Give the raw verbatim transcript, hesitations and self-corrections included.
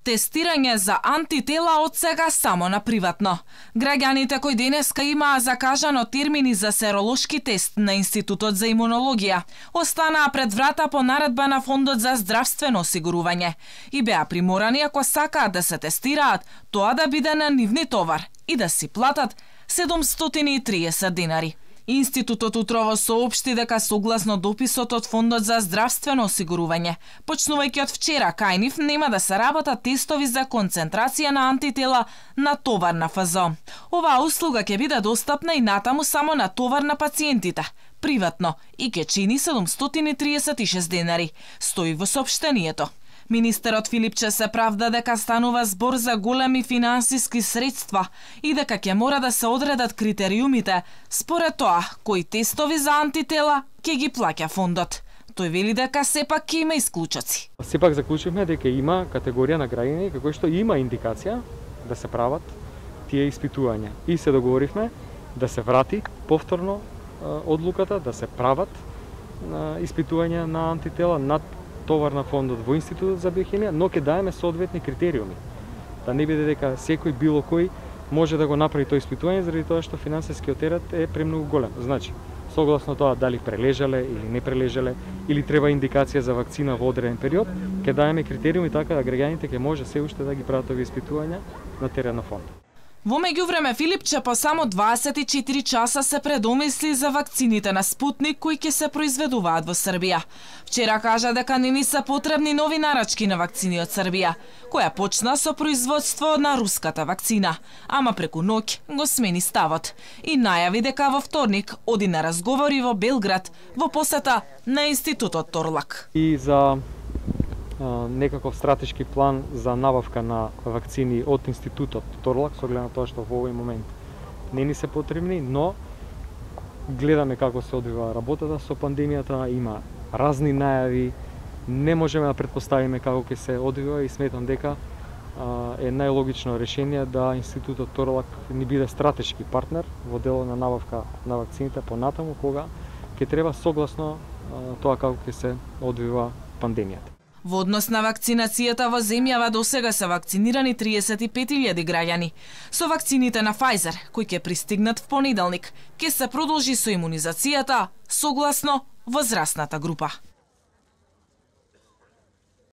Тестирање за антитела од сега само на приватно. Граѓаните кои денеска имаа закажано термини за серолошки тест на Институтот за имунологија останаа пред врата по наредба на Фондот за здравствено осигурување и беа приморани, ако сакаат да се тестираат, тоа да биде на нивни товар и да си платат седумстотини и триесет динари. Институтот утрово соопшти дека согласно дописот од Фондот за здравствено осигурување, почнувајќи од вчера кај нив нема да се работат тестови за концентрација на антитела на товар на Ф З О. Оваа услуга ќе биде достапна и натаму само на товар на пациентите, приватно, и ќе чини седумстотини и триесет и шест денари, стои во соопштението. Министерот Филипче се правда дека станува збор за големи финансиски средства и дека ќе мора да се одредат критериумите според тоа кои тестови за антитела ќе ги плаќа фондот. Тој вели дека сепак ќе има исклучоци. Сепак заклучивме дека има категорија на граѓани како што има индикација да се прават тие испитувања и се договоривме да се врати повторно одлуката да се прават испитувања на антитела над товар на фондот во Институтот за биохимија, но ќе даеме соодветни критериуми. Да не биде дека секој било кој може да го направи тоа испитување заради тоа што финансискиот терет е премногу голем. Значи, согласно тоа дали прележале или не прележале или треба индикација за вакцина во одреден период, ќе даеме критериуми така да граѓаните ќе може се уште да ги прават овие испитувања на терен на фондот. Во меѓувреме Филипче по само дваесет и четири часа се предомисли за вакцините на Спутник кои ќе се произведуваат во Србија. Вчера кажа дека не ни се потребни нови нарачки на вакцини од Србија, која почна со производство на руската вакцина, ама преку ноќ го смени ставот и најави дека во вторник оди на разговори во Белград во посета на Институтот Торлак. И за некаков стратешки план за набавка на вакцини од Институтот Торлак, со оглед на тоа што во овој момент не ни се потребни, но гледаме како се одвива работата со пандемијата, има разни најави, не можеме да претпоставиме како ќе се одвива и сметам дека е најлогично решение да Институтот Торлак ни биде стратешки партнер во дело на набавка на вакцините понатаму кога ќе треба согласно тоа како ќе се одвива пандемијата. Во однос на вакцинацијата во земјава досега се вакцинирани триесет и пет илјади граѓани. Со вакцините на Pfizer, кои ќе пристигнат в понеделник, ќе се продолжи со имунизацијата согласно возрастната група.